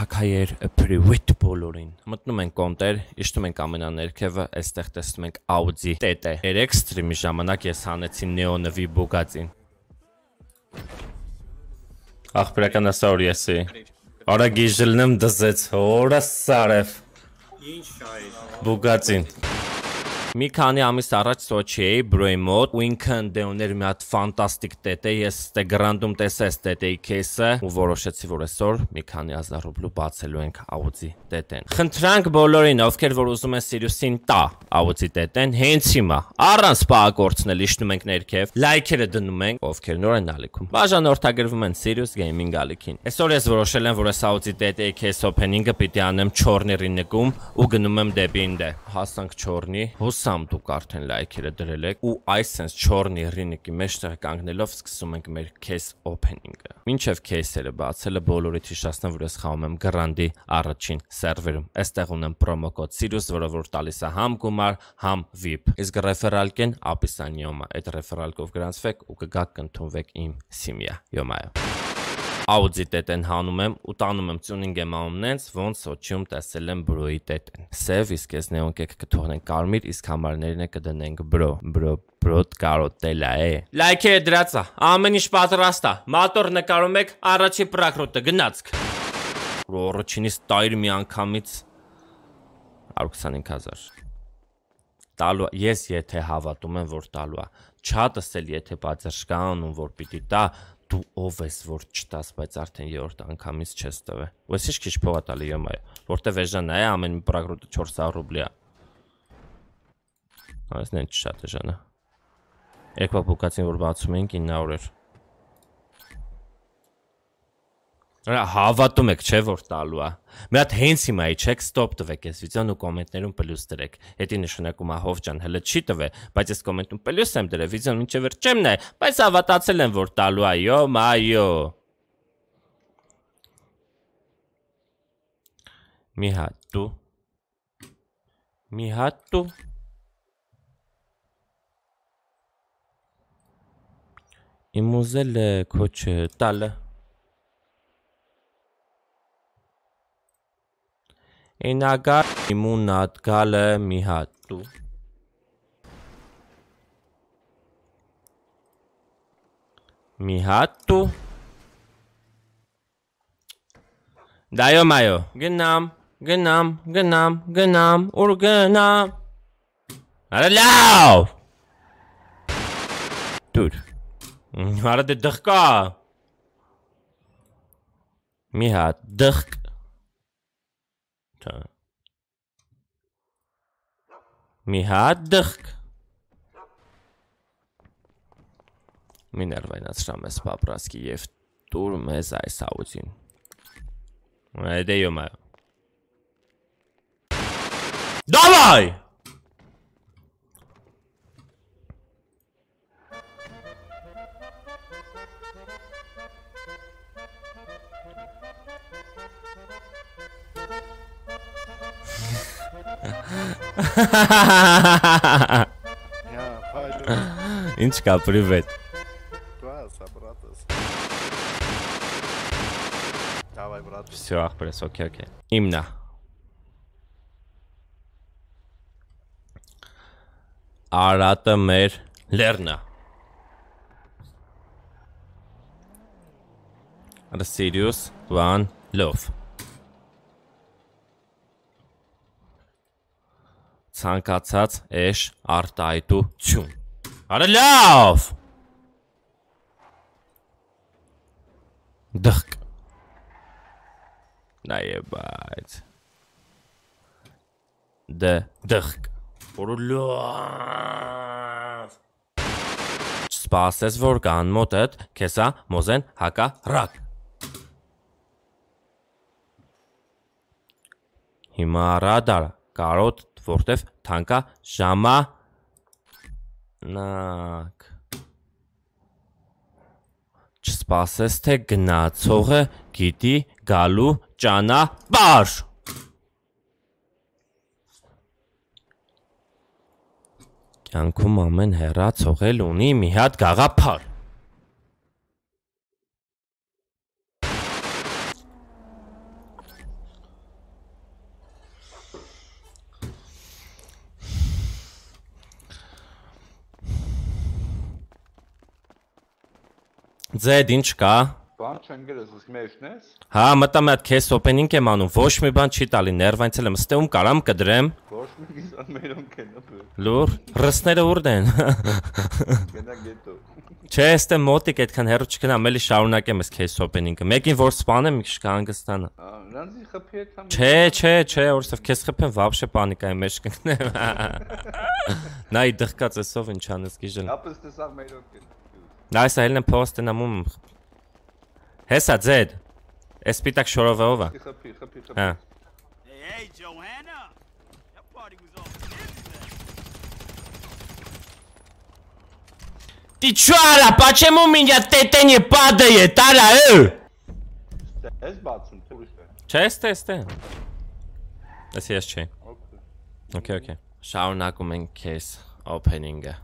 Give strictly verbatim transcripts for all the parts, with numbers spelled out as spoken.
Թակայեր պրիվիտ բոլորին։ Մտնում ենք կոնտեր, իշտում ենք ամենաներքևը, այստեղ տեսնում ենք Audi T T երեք ստրիմի ժամանակ ես հանեցի նեոնվի Bugatti-ին։ Ախպերական ասա որ եսի։ Արա գիժլնեմ դզեց, հորը սարև։ Ինչ շայր։ Bugatti-ին։ Մի քանի ամիս առաջ Սոչի էի բրոյի մոտ, ու ինքը դե ուներ մի հատ ֆանտաստիկ T T, ես Instagram-ում տեսա այս T T-ի քեյսը, ու որոշեցի, որ այսօր մի քանի հազար ռուբլու բացելու ենք Audi T T-ն։ Խնդրանք բոլորին, ովքեր որ ուզում են Sirius-ին տա Audi T T-ն, հենց հիմա, առանց պահակորցնել իշտնում ենք ներքև, լայքերը դնում ենք, ովքեր նոր են ալիքում։ Բաժանորդագրվում են Sirius Gaming ալիքին։ Այսօր ես որոշել եմ, որ այս Audi T T-ի քեյս օփենինգը պիտի անեմ չորնի նկում ու գնում եմ դեպի ինձ։ Հասանք չորնի, հուսամ դուք արդեն լայքերը դրել եք, ու այս sense չորնի ռինիկի մեջտեղ կանգնելով սկսում ենք մեր case opening-ը։ Մինչև case-երը բացելը բոլորիդ հիշեցնեմ, որ ես խաղում եմ Grandi առաջին սերվերում։ Այստեղ ունեմ promo code Sirius, որը որ տալիս է համ գումար, համ V I P։ Իսկ referral կեն ապիսանիոմա, այդ referral-կով գրանցվեք ու կգաք կընդունվեք իմ սիմիա։ Յոմայո։ Audi T T-ն հանում եմ ու տանում եմ tuning եմ անում նենց, ոնց Սոչիում տեսել եմ բրոյի T T-ն։ Սև, իսկ ես նեոն կեքը կթողնենք կարմիր, իսկ համարներն է կդնենք բրո, բրո, բրոտ կարոտելա է։ Լայքերը դրածա, ամեն ինչ պատրաստ է, մատոր նկարում եք, առաջի պրակրոտը գնացք։ Առաջինից տայր մի անգամից հարյուր քսանհինգ հազար։ Տալու ես եթե հավատում եմ, որ տալու է, չատս էլ եթե պատերժ կա անում, որ պիտի տա, դու ով ես որ չտաս, բայց արդեն երրորդ անգամից չես տվել։ Ու ես ինչ քիչ փող տալի յոմայ, որտեվ էժան է, ամեն մի պրագրոտը չորս սարս ռուբլի է։ Այս նեն շատ էժան է։ Երկու Bugatti-ին որ բացում ենք ինը հարյուր էր։ Հավատում եք, չէ՞ որ տալու է։ Մի հատ հենց հիմա իջեք, ստոպ տվեք այս վիդեոն ու կոմենտներում պլյուս դրեք։ Հետի նշանակում է հով ջան, հələ չի տվե, բայց ես կոմենտում պլյուս եմ դրել, վիդեոն մինչև վերջ չեմ նայ, բայց հավատացել եմ, որ տալու է, յո մայո։ Մի հատ դու։ Մի հատ դու։ Իմ ուզել է քոչը տալը։ Ինագա իմունատ գալը մի հատ դու։ Մի հատ դու։ Դայո մայո, գնամ, գնամ, գնամ, գնամ, ուր գնամ։ Արա լավ։ Դուր։ Արա դե դղկա։ Մի հատ դղկ։ Մի հատ դղկ։ Մի ներվայնացրամ ես պապրասկի և տուր մեզ այս Audi-ին։ Այդե յոմայ։ Դավայ! Ինչ կա, պրիվետ։ Всё, ախպերս, օքեյ, օքեյ։ Իմնա։ Արատը մեր լերնա։ Sirius One Love։ Ցանկացած էշ արտահայտություն։ Արա լավ։ Դղկ։ Նայեբայց։ Դ դղկ։ Որը լավ։ Չսպասես, որ կան մոտդ, քեսա մոզեն հակա ռակ։ Հիմա ռադար կարոտ որտև թանկա ժամանակ։ Չսպասես, թե գնացողը գիտի գալու ճանապարհ։ Կյանքում ամեն հեռացող էլ ունի մի հատ գաղափար։ Ձեդ ինչ կա։ Բան չեն գրես, իսկ մեջն ես։ Հա, մտա մի հատ case opening եմ անում, ոչ մի բան չի տալի, ներվայցել եմ, ստեում կարամ կդրեմ։ Ոչ մի գիզան մերոնք են ապը։ Լուր, ռսները ուր են։ Գնա գետո։ Չէ, ստե մոտիկ այդքան հեռու չգնամ, էլի շարունակեմ այս case opening-ը։ Մեկին որ սպանեմ, մի քիչ կհանգստանա։ Նրանցի խփի հետ համ։ Չէ, չէ, չէ, որովհետև քեզ խփեմ, вообще պանիկայի մեջ կընկնեմ։ Նայ դղկած էսով ինչ անես գիժել։ Ապա ստեսա մերոնք են։ Նայ սա ելնեմ փոստենամում։ Հեսա ձեդ։ Էս պիտակ շորովով է։ Խփի, խփի, խփի։ Հա։ Hey, Johanna. That party was all Ты чё, Ара, почему меня тетя не падает, Ара, э? Ես բացում, թե ուրիշ է։ Չէ, ստե, ստե։ Էս ես չէ։ Okay, okay։ Շարունակում ենք case opening-ը։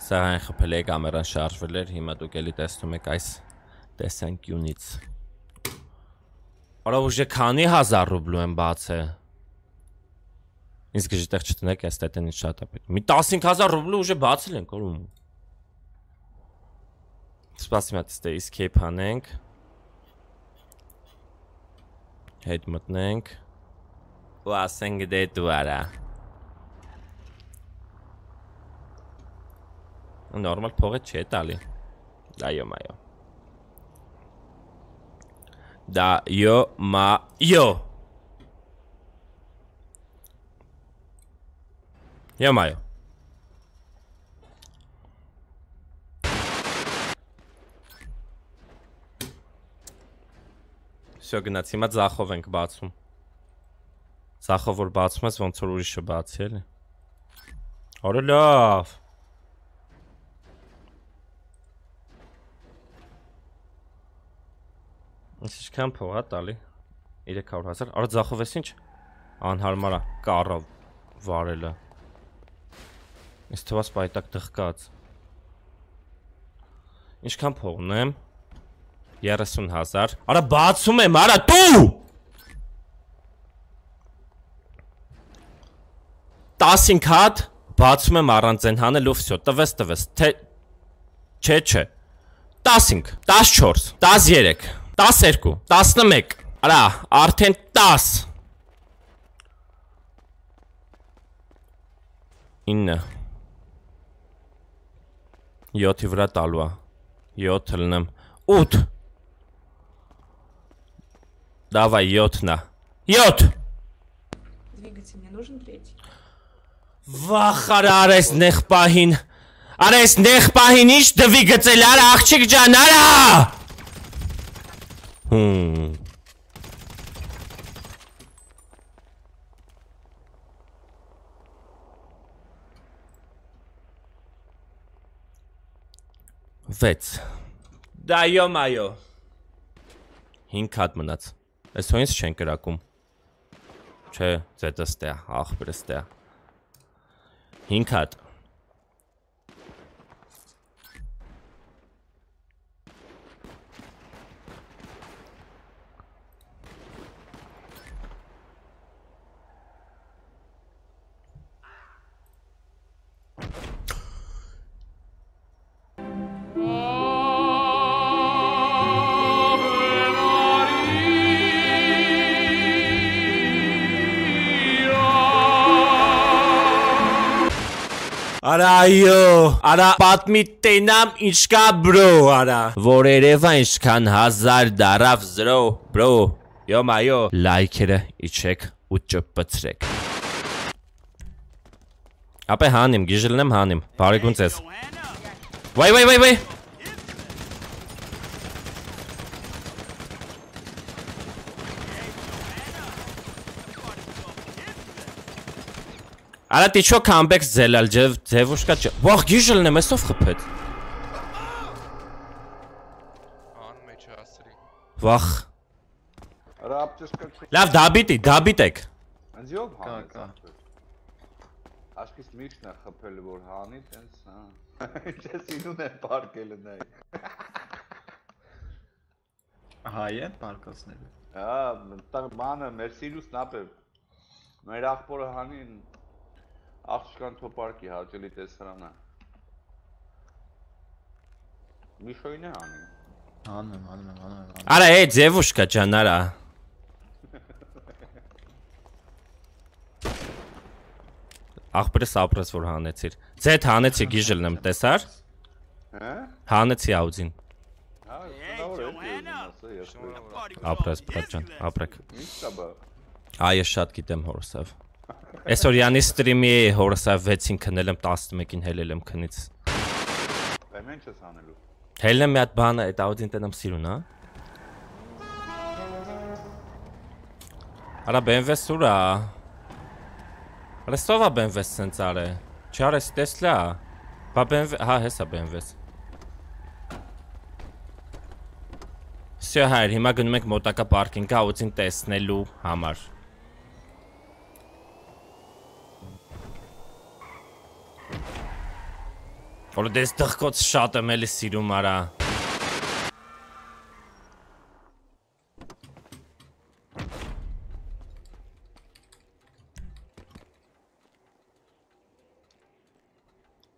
Սա այն խփել է կամերան շարժվել էր, հիմա դուք էլի տեսնում եք այս տեսանկյունից։ Արա ուժը քանի հազար ռուբլու եմ բացել։ Ինձ գժիտեղ չտնեք, այս տետենից շատ է պետք։ Մի տասնհինգ հազար ռուբլու ուժը բացել ենք, օրում։ Սպասի մատ ստե escape անենք։ Հետ մտնենք։ Ու ասենք դե դու արա։ Նորմալ փողը չէ տալի։ Դայո մայո։ Դայո մայո։ Յո մայո։ Всё գնաց, հիմա ձախով ենք բացում։ Ձախով որ բացում ես, ոնց որ ուրիշը բացի էլի։ Օրը լավ։ Ինչ ինչքան փող է տալի։ երեք հարյուր հազար։ Արա ձախով ես ինչ։ Անհարմար է, կառը վարելը։ Ինձ թվաց պայտակ դղկած։ Ինչքան փող ունեմ։ երեսուն հազար։ Արա բացում եմ, արա դու։ տասնհինգ հատ բացում եմ առանց են հանելու վсё, տվես տվես, թե չէ չէ։ տասնհինգ, տասնչորս, տասներեք, տասներկու, տասնմեկ, արա, արդեն տաս։ ինը։ յոթի վրա տալու է։ յոթ լնեմ։ ութ։ Давай, йод на. Йод! Двигатель, мне нужен третий. Վախար արես նեղ պահին։ Արես նեղ պահին ինչ դվիգծել արա աղջիկ ջան, արա։ Հմ։ վեց։ Դայո մայո։ հինգ հատ մնաց։ Այս հո ինձ չեն կրակում։ Չէ, ձետը ստե է, աղբերը ստե է։ հինգ հատ։ Արա այո, արա պատմի տենամ ինչ կա բրո, արա որ երևա ինչքան հազար դարավ զրո, բրո, յո մայո, լայքերը իչեք ու ճպպցրեք։ Ապե հանիմ, գիժլնեմ հանիմ, բարեգուն ձեզ։ Վայ վայ վայ վայ։ Արա ты чё камбэк сделал, девушка? Вах, գիժլնեմ, էսով խփեց։ Վախ։ Լավ, դաբիտի, դաբիտեք։ Անց յով հանեց։ Աշկիս միշտ է խփել որ հանի, տենց, հա։ Ինչ սինուն է պարկելը նայ։ Հայ են պարկասները։ Հա, տա բանը մեր սիրուսն ապե։ Մեր աղբորը հանին Աղջկան թոպարկի հաճելի տեսարանը։ Միշոյն է անի։ Անում եմ, անում եմ, անում եմ։ Արա, է, ձևուշկա ջան, արա։ Աղբերս ապրես որ հանեցիր։ Ձեթ հանեցի գիժելն եմ, տեսար։ Հանեցի աուձին։ Ապրես, պրաջան, ապրեք։ Այ, շատ գիտեմ հորսավ։ Այսօր յանի ստրիմի է հորսավ վեցին քնել եմ, տասնմեկին հելել եմ քնից։ Բեմ ինչ ես հանելու։ Հելն եմ մի հատ բանը, այդ աուձին տենամ սիրուն, հա։ Արա բենվես ուրա։ Արա ստովա բենվես սենց արե։ Չարես տեսլա։ Բա բենվես, հա հեսա բենվես։ Սյո հայր, հիմա գնում ենք մոտակա պարկինգ աուձին տեսնելու համար։ Որը դես դղկոց շատ եմ էլի սիրում արա։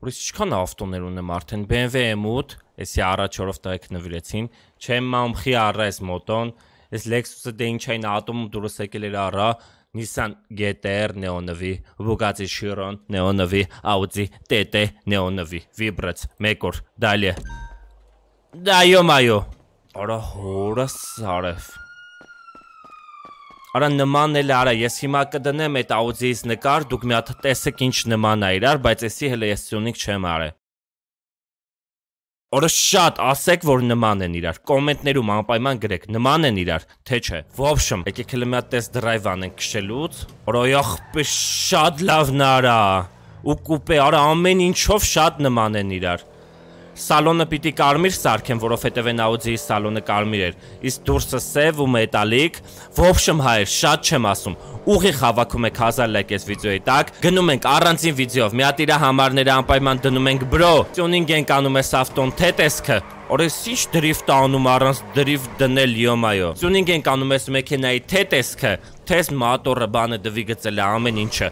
Որից չքան ավտոներ ունեմ արդեն, B M W M opt, եսի առաջորով տղեք նվիրեցին, չեմ մամխի առա ես մոտոն, ես Lexus-ը դե ինչ այն ատոմում դուրս եկել էր առա, Nissan G T R նեոնվի, Bugatti Chiron նեոնվի, Audi T T նեոնվի, Vibrats, մեկ օր, դալի է։ Դայո մայո, արա հորը սարև։ Արա նման էլ արա, ես հիմա կդնեմ այդ Audi-ից նկար, դուք մի հատ տեսեք ինչ նման է իրար, բայց եսի հələ ես սյունիկ չեմ արե։ Որը շատ ասեք, որ նման են իրար, կոմենտներում անպայման գրեք, նման են իրար, թե չէ։ Ոբշմ, եկեք հələ մի հատ տես դրայվ անենք քշելուց, որը ախպե շատ լավն արա, ու կուպե, արա ամեն ինչով շատ նման են իրար։ Սալոնը պիտի կարմիր սարքեմ, որովհետև այն Audi-ի սալոնը կարմիր էր, իսկ դուրսը սև ու մետալիկ, ոբշմ հայր, շատ չեմ ասում, ուղիղ հավաքում եք հազար լայք այս վիդեոյի տակ, գնում ենք առանձին վիդեով, մի հատ իրա համարները անպայման դնում ենք բրո, տյունինգ ենք անում ես ավտոն, թե տեսքը, օրես ինչ դրիֆտ անում առանց դրիֆտ դնել յոմայո, տյունինգ ենք անում ես մեքենայի թե տեսքը, թես մատորը բանը դվի գծել է ամեն ինչը,